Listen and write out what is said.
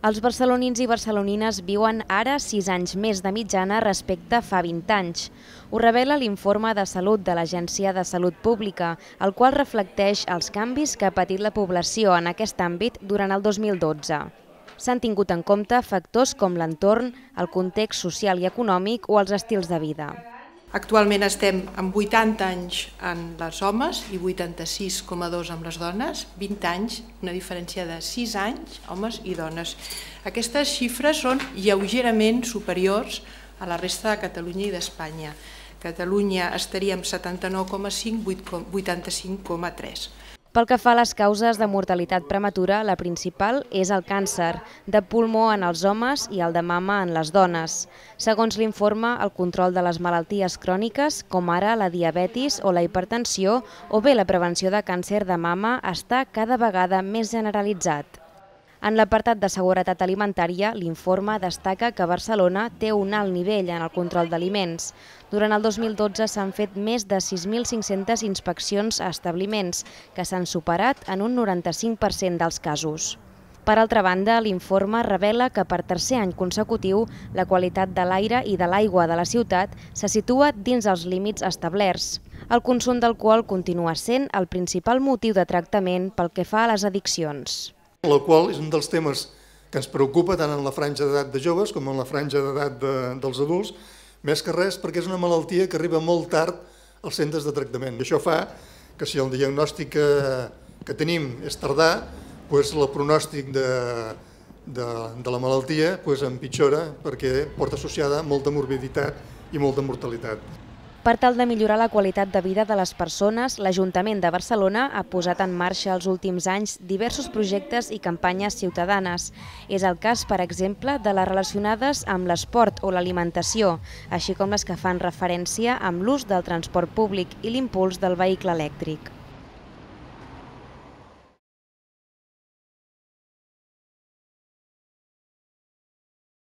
Els barcelonins i barcelonines viuen ara 6 anys més de mitjana respecte a fa 20 anys. Ho revela l'informe de salut de l'Agència de Salut Pública, el qual reflecteix els canvis que ha patit la població en aquest àmbit durant el 2012. S'han tingut en compte factors com l'entorn, el context social i econòmic o els estils de vida. Actualment estem amb 80 anys en els homes i 86,2 amb les dones, 20 anys, una diferència de 6 anys, homes i dones. Aquestes xifres són lleugerament superiors a la resta de Catalunya i d'Espanya. Catalunya estaria amb 79,5, 85,3. Pel que fa a les causes de mortalitat prematura, la principal és el càncer de pulmó en els homes i el de mama en les dones. Segons l'informe, el control de les malalties cròniques, com ara la diabetis o la hipertensió, o bé la prevenció de càncer de mama, està cada vegada més generalitzat. En l'apartat de seguretat alimentària, l'informe destaca que Barcelona té un alt nivell en el control d'aliments. Durant el 2012 s'han fet més de 6.500 inspeccions a establiments, que s'han superat en un 95% dels casos. Per altra banda, l'informe revela que per tercer any consecutiu la qualitat de l'aire i de l'aigua de la ciutat se situa dins els límits establerts. El consum d'alcohol continua sent el principal motiu de tractament pel que fa a les addiccions. L'alcohol és un dels temes que ens preocupa tant en la franja d'edat de joves com en la franja d'edat dels adults, més que res perquè és una malaltia que arriba molt tard als centres de tractament. I això fa que si el diagnòstic que tenim és tardà, el pronòstic de la malaltia empitjora perquè porta associada molta morbiditat i molta mortalitat. Per tal de millorar la qualitat de vida de les persones, l'Ajuntament de Barcelona ha posat en marxa els últims anys diversos projectes i campanyes ciutadanes. És el cas, per exemple, de les relacionades amb l'esport o l'alimentació, així com les que fan referència amb l'ús del transport públic i l'impuls del vehicle elèctric.